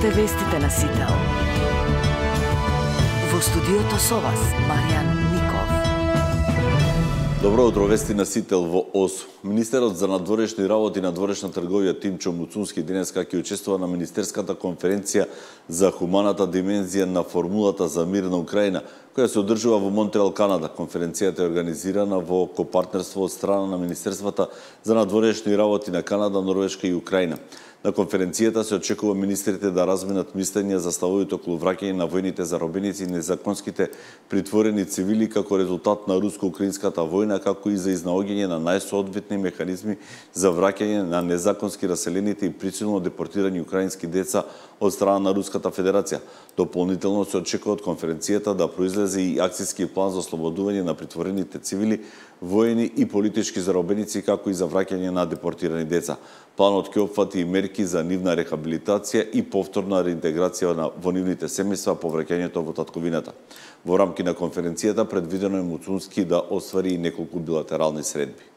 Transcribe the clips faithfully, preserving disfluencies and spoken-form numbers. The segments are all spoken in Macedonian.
Слушате вестите на Сител. Во студиото со вас, Маријан Ников. Добро утро, вести на Сител во ОС. Министерот за надворешни работи и надворешна трговија Тимчо Муцунски денеска ќе учествува на Министерската конференција за хуманата димензија на формулата за мир на Украина, која се одржува во Монтреал, Канада. Конференцијата е организирана во копартнерство од страна на Министерствата за надворешни работи на Канада, Норвешка и Украина. На конференцијата се очекува министрите да разменат мислења за ставовите околу враќање на војните заробеници и незаконските притворени цивили како резултат на руско-украинската војна, како и за изнаоѓање на најсоодветни механизми за враќање на незаконски раселените и присилно депортирани украински деца од страна на Руската Федерација. Дополнително се очекува од конференцијата да произлезе и акцијски план за ослободување на притворените цивили, воени и политички заробеници, како и за враќање на депортирани деца. Планот ќе опфати и мерки за нивна рехабилитација и повторна реинтеграција во нивните семејства по враќањето во татковината. Во рамки на конференцијата предвидено е Муцунски да оствари и неколку билатерални средби.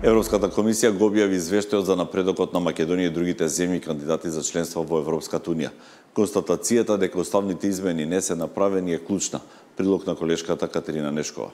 Европската комисија го објави извештајот за напредокот на Македонија и другите земји кандидати за членство во Европската унија. Констатацијата дека уставните измени не се направени е клучна. Прилог на колешката Катерина Нешкова.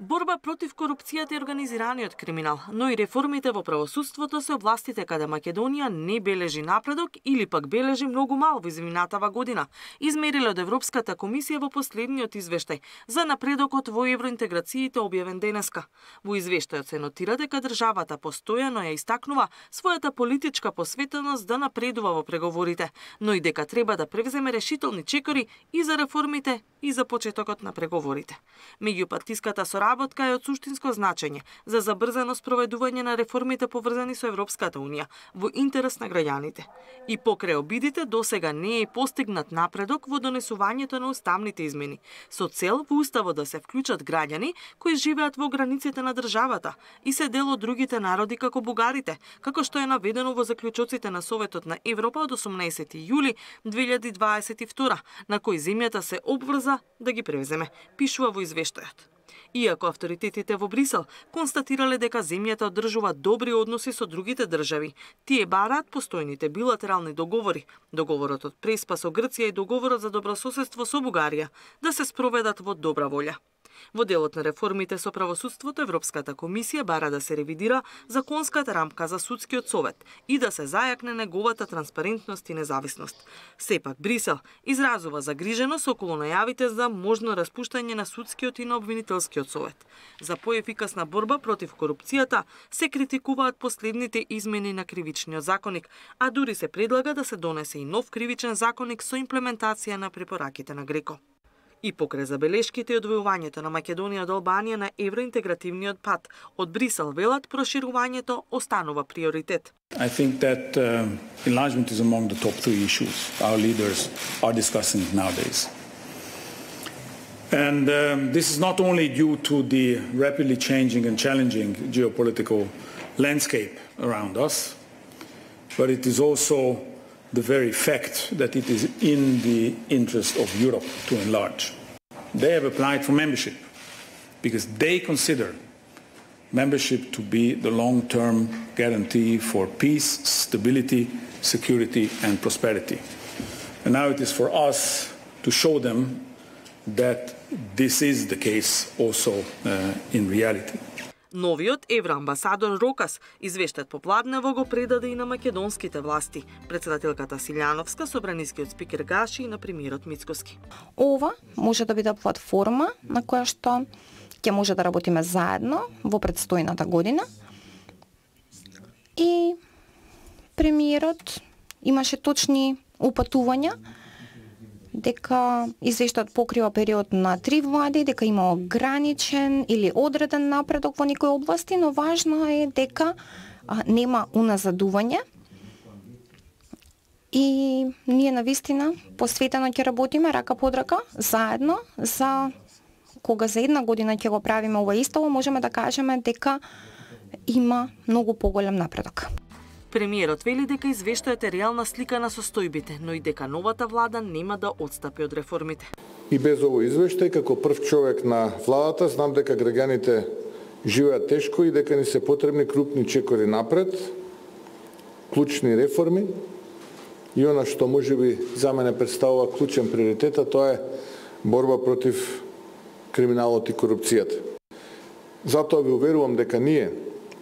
Борба против корупцијата и организираниот криминал, но и реформите во правосудството се областите каде Македонија не бележи напредок или пак бележи многу мал во изминатава година, измериле од Европската комисија во последниот извештај за напредокот во евроинтеграциите објавен денеска. Во извештајот се нотира дека државата постојано ја истакнува својата политичка посветеност да напредува во преговорите, но и дека треба да превземе решителни чекори и за реформите и за почетокот на преговорите. Меѓупартиската соработка е од суштинско значење за забрзано спроведување на реформите поврзани со Европската унија во интерес на граѓаните. И покрај обидите досега не е постигнат напредок во донесувањето на уставните измени, со цел во уставот да се вклучат граѓани кои живеат во границите на државата и се дел од другите народи како бугарите, како што е наведено во заклучоците на Советот на Европа од осумнаесети јули две илјади дваесет и втора, на кои земјата се обврза да ги превземе, пишува во извештајот. Иако авторитетите во Брисел констатирале дека земјата одржува добри односи со другите држави, тие бараат постојните билатерални договори, договорот од Преспа со Грција и договорот за добрососедство со Бугарија, да се спроведат во добра волја. Во делот на реформите со правосудството, Европската комисија бара да се ревидира законската рамка за судскиот совет и да се зајакне неговата транспарентност и независност. Сепак Брисел изразува загриженост околу најавите за можно распуштање на судскиот и на обвинителскиот совет. За поефикасна борба против корупцијата се критикуваат последните измени на кривичниот законник, а дури се предлага да се донесе и нов кривичен законник со имплементација на препораките на Греко. И покрај забелешките и одвојувањето на Македонија од Албанија на евроинтегративниот пат, од Брисел велат проширувањето останува приоритет. I think that uh, enlargement is among the top three issues our leaders are discussing nowadays. And um, this is not only due to the rapidly changing and challenging geopolitical landscape around us, but it is also the very fact that it is in the interest of Europe to enlarge. They have applied for membership because they consider membership to be the long-term guarantee for peace, stability, security and prosperity. And now it is for us to show them that this is the case also uh, in reality. Новиот евроамбасадор Рокас извештајот попладнево го предаде и на македонските власти, председателката Силјановска, собранискиот спикер Гаши и на премиерот Мицкоски. Ова може да биде платформа на која што ќе може да работиме заедно во предстојната година. И премиерот имаше точни упатувања дека извештајот покрива период на три влади, дека има ограничен или одреден напредок во некои области, но важно е дека а, нема уназадување и ние навистина посветено ќе работиме рака под рака, заедно, за кога за една година ќе го правиме ова истово, можеме да кажеме дека има многу поголем напредок. Премиерот вели дека извештајот е реална слика на состојбите, но и дека новата влада нема да отстапи од реформите. И без овој извештај, како прв човек на владата, знам дека граѓаните живеат тешко и дека ни се потребни крупни чекори напред, клучни реформи и она што можеби за мене представува клучен приоритет, а тоа е борба против криминалот и корупцијата. Затоа ви уверувам дека ние,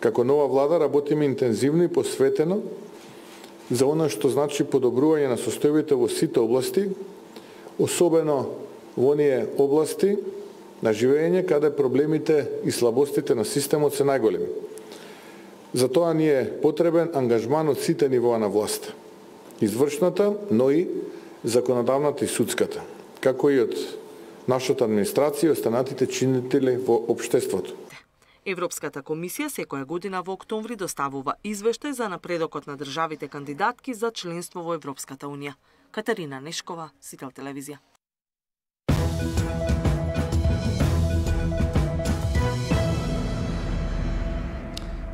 како нова влада, работиме интензивно и посветено за она што значи подобрување на состојбите во сите области, особено во оние области на живење каде проблемите и слабостите на системот се најголеми. Затоа ни е потребен ангажман од сите нивоа на власта, извршната, но и законодавната и судската, како и од нашата администрација и останатите чинители во општеството. Европската комисија секоја година во октомври доставува извештај за напредокот на државите кандидатки за членство во Европската унија. Катарина Нешкова, Сител телевизија.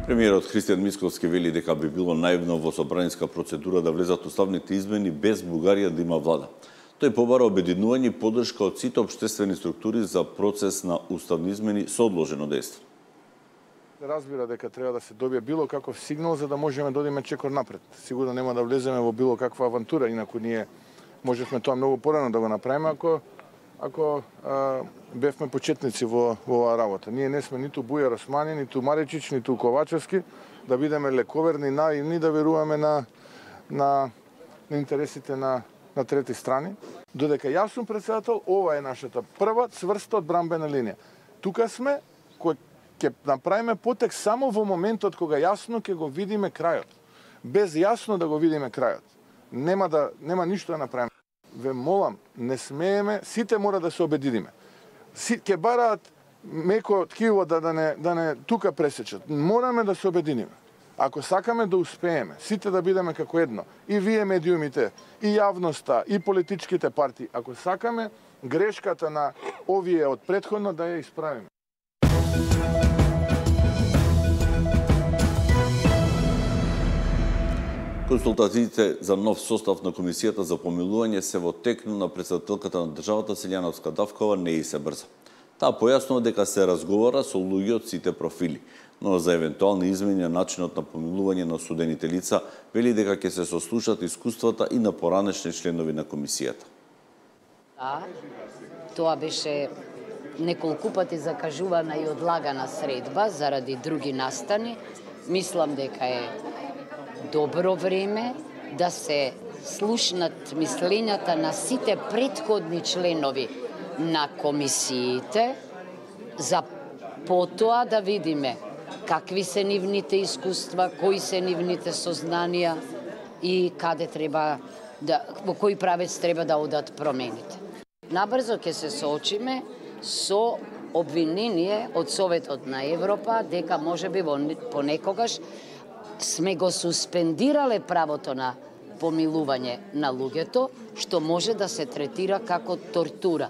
Премиерот Христијан Мицковски вели дека би било наивно во собранинска процедура да влезат уставните измени без Бугарија да има влада. Тој побара обединување и поддршка од сите општествени структури за процес на уставни измени со одложено дејство. Разбира дека треба да се добие било каков сигнал за да можеме да одиме чекор напред. Сигурно нема да влеземе во било каква авантура, инаку ние можевме тоа многу порано да го направиме ако ако а, бевме почетници во во оваа работа. Ние не сме ниту Бујар Османи, ниту Маричич, ниту Ковачевски да бидеме лековерни, наивни, да веруваме на на, на интересите на на трети страни. Додека јас сум председател, ова е нашата прва цврста одбранбена линија. Тука сме кој ќе направиме потек само во моментот кога јасно ќе го видиме крајот. Без јасно да го видиме крајот, нема да нема ништо да направиме. Ве молам, не смееме, сите мора да се обединиме. Си ќе бараат меко ткиво да да не да не тука пресечат. Мораме да се обединиме. Ако сакаме да успееме, сите да бидеме како едно, и вие медиумите, и јавноста, и политичките партии, ако сакаме грешката на овие од претходно да ја исправиме. Консултациите за нов состав на Комисијата за помилување се во тек, но на председателката на државата Силјановска Давкова не и се брза. Таа појаснува дека се разговара со луѓе од сите профили, но за евентуални измени на начинот на помилување на осудените лица вели дека ќе се сослушат искуствата и на поранешни членови на комисијата. Да, тоа беше неколку пати закажувана и одлагана средба заради други настани. Мислам дека е добро време да се слушнат мислењата на сите претходни членови на комисиите, за потоа да видиме какви се нивните искуства, кои се нивните сознанија и каде треба да, во кој правец треба да одат промените. Набрзо ќе се соочиме со обвинение од Советот на Европа дека можеби понекогаш сме го суспендирале правото на помилување на луѓето, што може да се третира како тортура.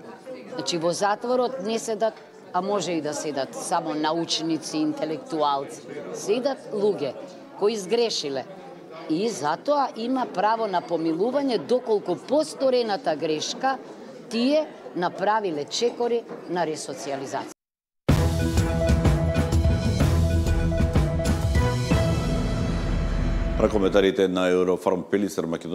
Значи во затворот не седат, а може и да седат само научници, интелектуалци. Седат луѓе кои сгрешиле. И затоа има право на помилување доколку посторената грешка тие направиле чекори на ресоциализација. Коментарите на Eurofarm Пелисар Македонија